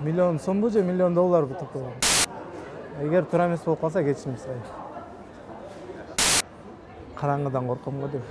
Миллион сомбу же миллион долларбы топогон? Эгер туура эмес болуп калса кечирим сурайм. Караңгыдан корком го дейм.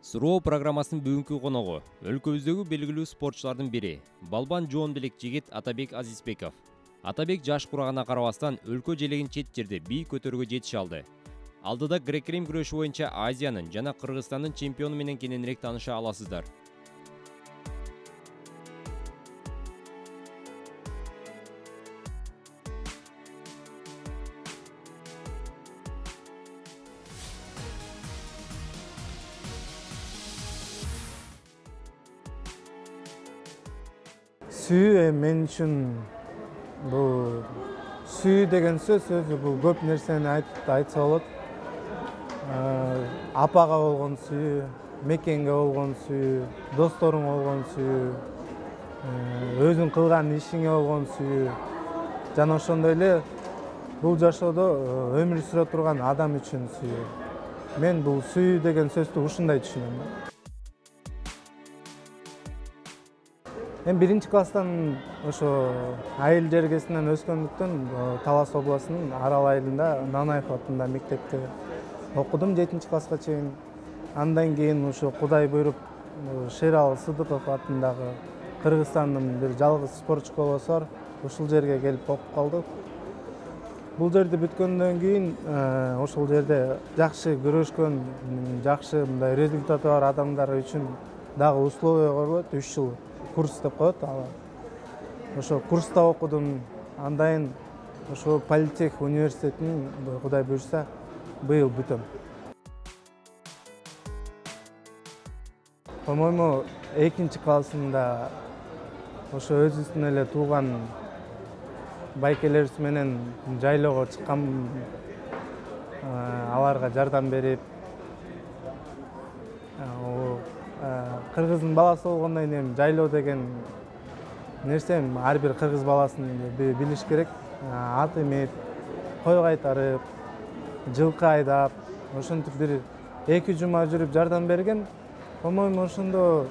Суроо программасынын бүгүнкү коногу өлкөбүздөгү белгилүү спортчулардын бири балбан жоон белек жигит Атабек Азизбеков. Атабек жаш курагына карабастан өлкө желегин чет жерде бийик көтөрүүгө жетише алды. Алдыда грек-рим күрөшү боюнча Азиянын жана Кыргызстандын чемпиону менен кененирээк тааныша аласыздар. Сүйүү мен үчүн бул сүйүү деген сөз бул көп нерсени айтса болот. Апага болгон сүйүү, мекенге болгон сүйүү, досторуңа болгон сүйүү, өзүң кылган ишиңе болгон сүйүү жана ошондой эле бул жашоодо өмүр сүрө турган адам үчүн сүйүү. Мен бул сүйүү деген сөздү ушундай түшүнөм. Мен биринчи класстан ошо айыл жергесинен өскөндүктөн Талас областынын Арал айылында Нанаев атында мектепте окудум 7 класска чейин. Андан кийин ошо Кудай буйруп Шерал Сыдыков атындагы Кыргызстандын бир жалгыз спорт школосу бар. Ушул жерге келип окуп калдык. Бул жерди бүткөндөн кийин ошол жерде жакшы күрөшкөн, жакшы мындай результаты бар адамдар үчүн дагы условия коюлат, 3 жыл курс деп коет. Ошо курста окудум. Андан ошо Политех университетин Кудай буйрса быйыл бүтөм. По-моему, 2 классында ошо өзүбүздүн эле тууган байкелерибиз менен жайлоого чыккан, аларга жардам берип, кыргыздын баласы болгондон кийин жайлоо деген нерсе ар бир кыргыз баласын билиш керек. Ат эмип, кой кайтарып, жылкы айдап, ошентип бир 2 жума жүрүп жардам берген. По-моему, ошондо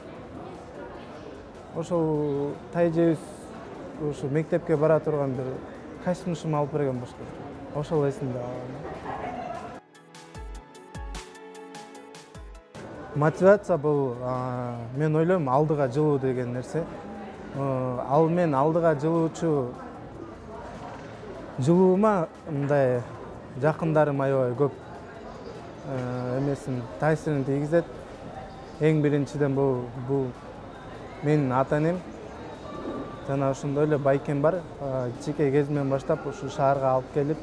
ошол тайжебиз ошо мектепке бара турган бир костюмшум алып берген болчу. Ошол эсимде. Мотивация бул мен ойлойм алдыга жылуу деген нерсе. Ал мен алдыга жылуучу жылуума мындай жакындарым аябай көп эмесин таасирин тийгизет. Эң биринчиден бул менин ата-энем жана ошондой эле байкем бар. Кичинекей кезимден баштап ушу шаарга алып келип,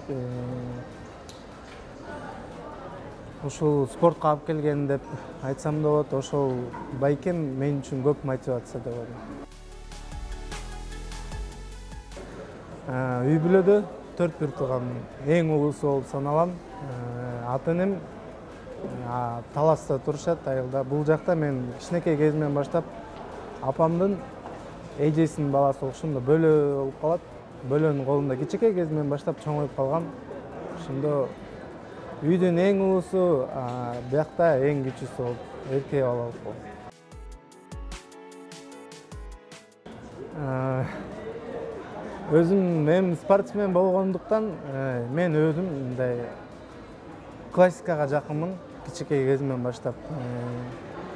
ушул спортко алып келген деп айтсам да болот. Ошол байкем мен үчүн көп мотивация деп ойлойм. Үй бүлөдө 4 бир тууган, эң улуусу болуп саналам. Ата-энем Таласта турушат, айылда. Бул жакта мен кичинекей кезимден баштап апамдын эжесинин баласы болушумда бөлө болуп калат. Бөлөнүн колунда кичинекей кезимден баштап чоңоюп калгам. Ошондо үйдүн эң улуусу, биякта эң кичүүсү болуп, эркек бала болуп калдым. Өзүм мен спортсмен болгондуктан мен өзүм мындай классикага жакынмын. Кичинекей кезимден баштап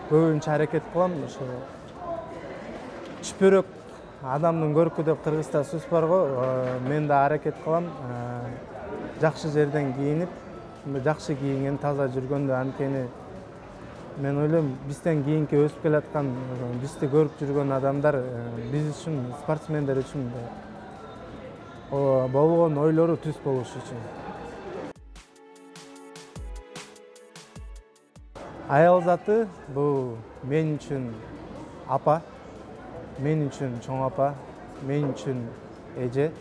көбүнчө аракет кылам. Ошо чүпөрөк адамдын көркү деп кыргызча сөз бар го. Мен да аракет кылам. Жакшы жерден кийинип, жакшы кийинген, таза жүргөндө, анткени мен ойлойм бизден кийинки өсүп келаткан, бизди көрүп жүргөн адамдар биз үчүн, спортсмендер үчүн болгон ойлору түз болушу үчүн. Аял заты бул мен үчүн апа. мен үчүн чоң апа, мен үчүн эже,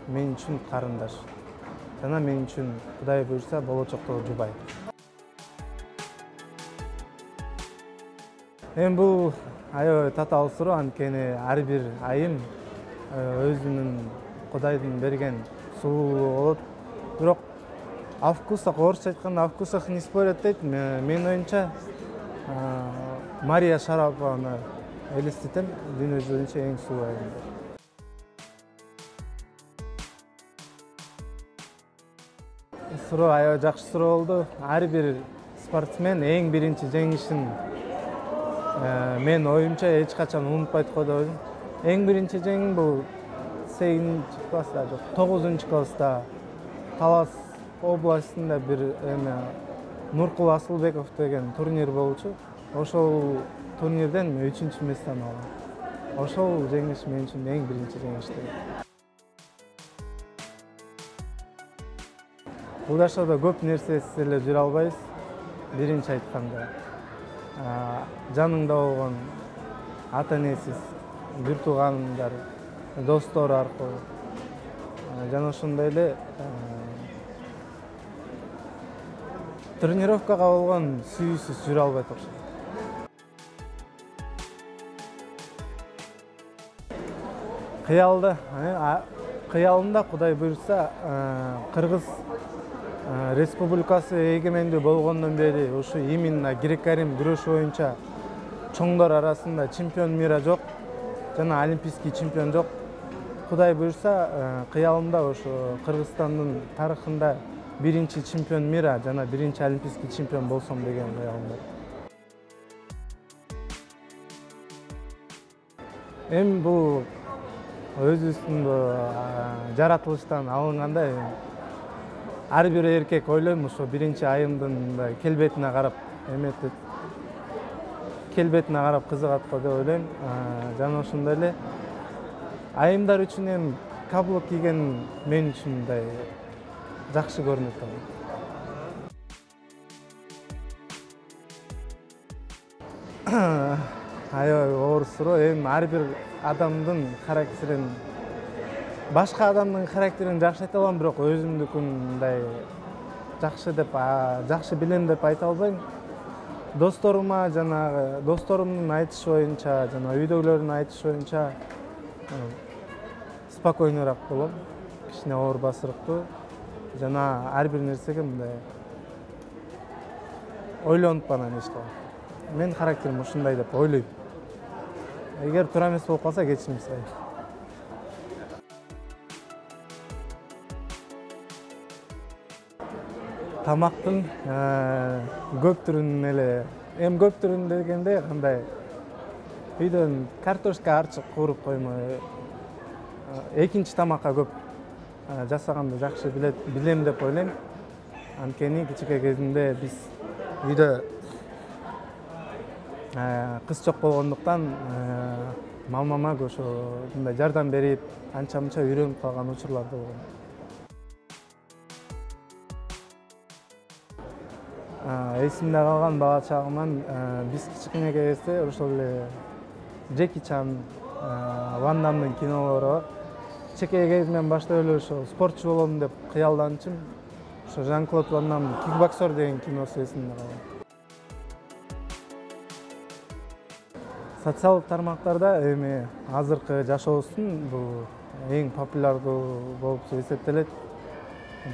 мен үчүн карындаш жана мен үчүн Кудай буйрса болочоктогу жубай. Эми бул аябай татаал суроо, анткени ар бир айым өзүнүн Кудайдын берген сулуулугу болот. Бирок о вкусах, орусча айтканда, о вкусах не спорят дейт. Менин оюмча Мария Шарапованы элестетем, дүйнө жүзүндө эң сулуу айым. Суроо аябай жакшы суроо болду. Ар бир спортсмен эң биринчи жеңишин мен оюмча эч качан унутпайт го деп ойлойм. Эң биринчи жеңим бул 8-чи класста, жок, 9-чу класста Талас областында бир Нуркул Асылбеков деген турнир болчу. Ошол турнирден 3-чү месттен алгам. Ошол жеңиш мен үчүн эң биринчи жеңиш. Бул жашоодо көп нерсесиз эле жүрө албайбыз. Биринчи айтканда, жаныңда болгон ата энесиз, бир туугандар, достор аркылуу жана ошондой эле тренировкага болгон сүйүүсүз жүрө албайт окшойт. Кыялымда Кудай буйрса Кыргыз Республикасы эгемендүү болгондон бери ушу именно грек-рим күрөшү боюнча чоңдор арасында чемпион мира жок жана олимпийский чемпион жок. Кудай буйрса кыялымда ошо Кыргызстандын тарыхында биринчи чемпион мира жана биринчи олимпийский чемпион болсом деген кыялым бар. Эми бул өзүбүздүн жаратылыштан алынганда ар бир эркек ойлойм ошо биринчи айымдын мындай келбетине карап эметип, келбетине карап кызыгат го деп ойлойм. Жана ошондой эле айымдар үчүн эми каблук кийген мен үчүн мындай жакшы көрүнөт. Аябай оор суроо. Эми ар бир адамдын характерин, башка адамдын характерин жакшы айта алам, бирок өзүмдүкүн мындай жакшы билем деп айта албайм. Досторума жанагы досторумдун айтышы боюнча жана үйдөгүлөрдүн айтышы боюнча спокойныйраак болом, кичине оор басырыктуу жана ар бир нерсеге мындай ойлонуп анан иш кылам. Мен характерим ушундай деп ойлойм. Эгер туура эмес болуп калса кечирим сурайм. Тамактын көп түрүн эле, эми көп түрүн дегенде кандай үйдөн картошка арчык кууруп коймой экинчи тамакка көп жасаганды жакшы билем деп ойлойм. Анткени кичине кезимде биз үйдө кыз жок болгондуктан мамама ошо мындай жардам берип, анча-мынча үйрөнүп калган учурлар да болгон. Эсимде калган бала чагыман биз кичине кезде ошол эле Джеки Чан, Ван Дамдын кинолору бар. Чекей кезимден баштап эле ошо спортчу болом деп кыялданчым. Ошо Жан-Клод Ван Дамдын Кикбоксер деген киносу эсимде калган. Социалдык тармактарда эми азыркы жашообуздун бул эң популярдуу болуп эсептелет.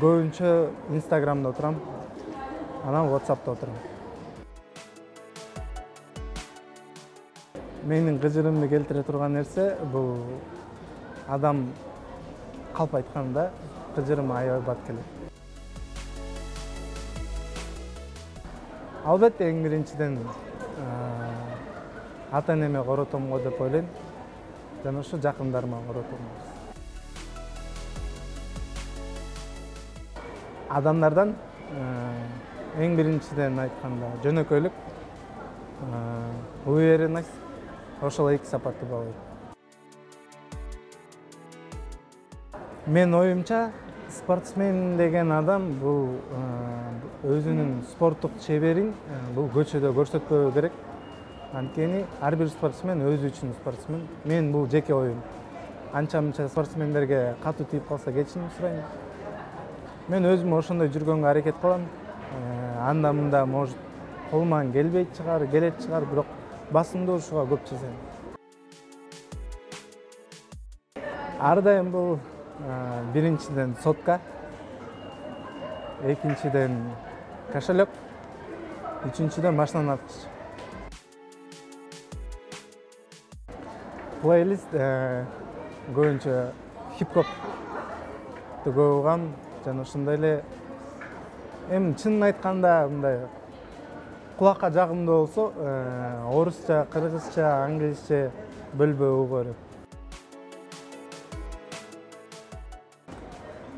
Көбүнчө Инстаграмда отурам, анан WhatsApp'та отурам. Менин кыжырымды келтире турган нерсе бул адам калп айтканда кыжырым аябай бат келет. Албетте эң биринчиден ата энеме коротом го деп ойлойм. Жана ошо жакындарыма коротом. Адамдардан эң биринчиден айтканда жөнөкөйлүк, уверенность, ошол эки сапатты баалайт. Мен оюмча спортсмен деген адам бул өзүнүн спорттук чеберин бул көчөдө көрсөтпөө керек. Анткени ар бир спортсмен өзү үчүн спортсмен. Мен бул жеке оюм. Анча-мынча спортсмендерге катуу тийип калса кечирим сурайм. Мен өзүм ошондой жүргөнгө аракет кылам. Анда-мында может колуман келбейт чыгар, келет чыгар, бирок басымдуу ушуга көп жасайм. Ар дайым бул биринчиден сотка, экинчиден кошелек, үчүнчүдөн машинанын арткычы. Плейлист көбүнчө хип-хопты көп угам жана ошондой эле эми чынын айтканда мындай кулакка жагымдуу болсо орусча, кыргызча, англисче бөлбөй уга берем.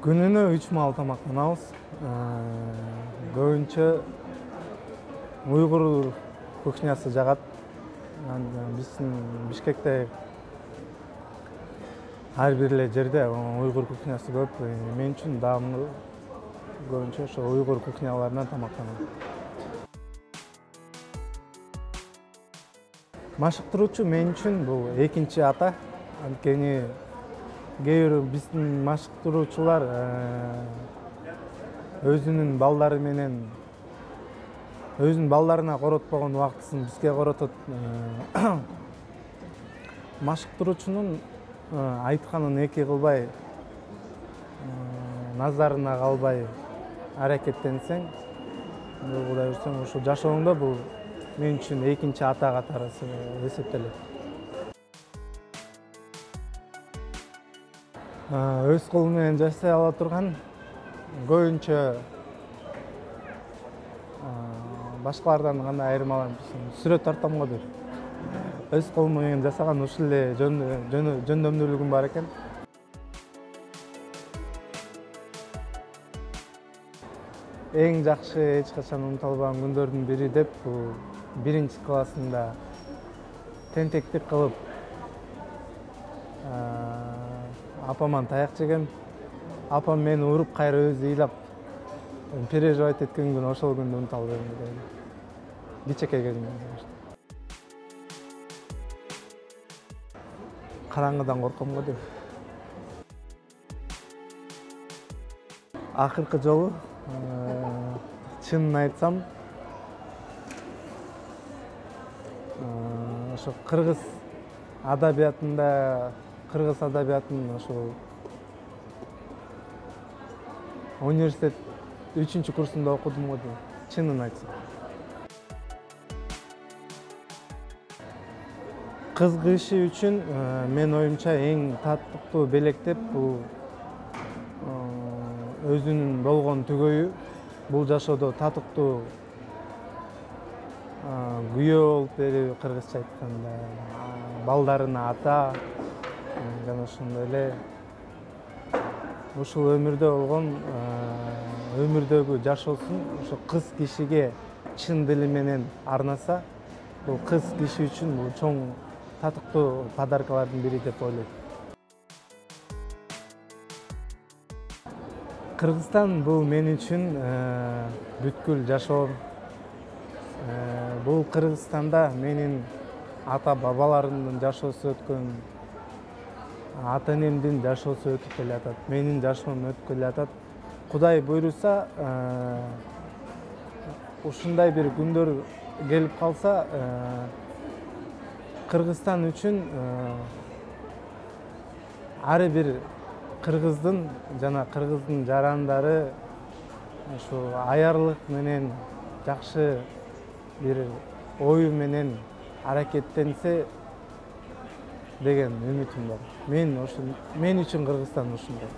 Күнүнө 3 маал тамактанабыз. Көбүнчө уйгур кухнясы жагат. Биздин Бишкекте ар бир эле жерде уйгур кухнясы көп. Мен үчүн даамдуу. Көбүнчө ошо уйгур кухняларынан тамактанам. Машыктыруучу мен үчүн бул экинчи ата. Анткени кээ бир биздин машыктыруучулар өзүнүн балдары менен өзүнүн балдарына коротпогон убактысын бизге коротот. Машыктыруучунун айтканын эки кылбай, назарына калбай аракеттенсең, Кудай буйрса, ошо жашооңдо бул мен үчүн экинчи ата катары эсептелет. Өз колум менен жасай ала турган көбүнчө башкалардан кандай айырмаланып сүрөт тартам го деп. Өз колум менен жасаган ушул эле жөндөмдүүлүгүм бар экен. Эң жакшы эч качан унута албаган күндөрдүн бири деп бул 1-классында тентектик кылып апаман таяк жегем. Апам мени уруп кайра өзү ыйлап переживать эткен күн ошол күндү унута албайм. Кичекей кезимде. Караңгыдан корком го деп. Акыркы жолу чынын айтсам, ошо кыргыз адабиятында, кыргыз адабиятынын ошо университет 3-курсунда окудум го дейм, чынын айтсам. Кыз киши үчүн мен оюмча эң татыктуу белек деп бул өзүнүн болгон түгөйү, бул жашоодо татыктуу күйөө болуп берип, кыргызча айтканда, балдарына ата, жана ошондой эле ушул өмүрдө болгон өмүрдөгү жашоосун ошо кыз кишиге чын дили менен арнаса, бул кыз киши үчүн бул чоң татыктуу подаркалардын бири деп ойлойм. Кыргызстан бул мен үчүн бүткүл жашоом. Бул Кыргызстанда менин ата-бабаларымдын жашоосу өткөн, ата-энемдин жашоосу өтүп келатат, менин жашоом өтүп келатат. Кудай буйруса, ушундай бир күндөр келип калса, Кыргызстан үчүн ар бир кыргыздын жана кыргыздын жарандары ушу аярлык менен, жакшы бир ою менен аракеттенсе деген үмүтүм бар. Мен үчүн Кыргызстан ушундай.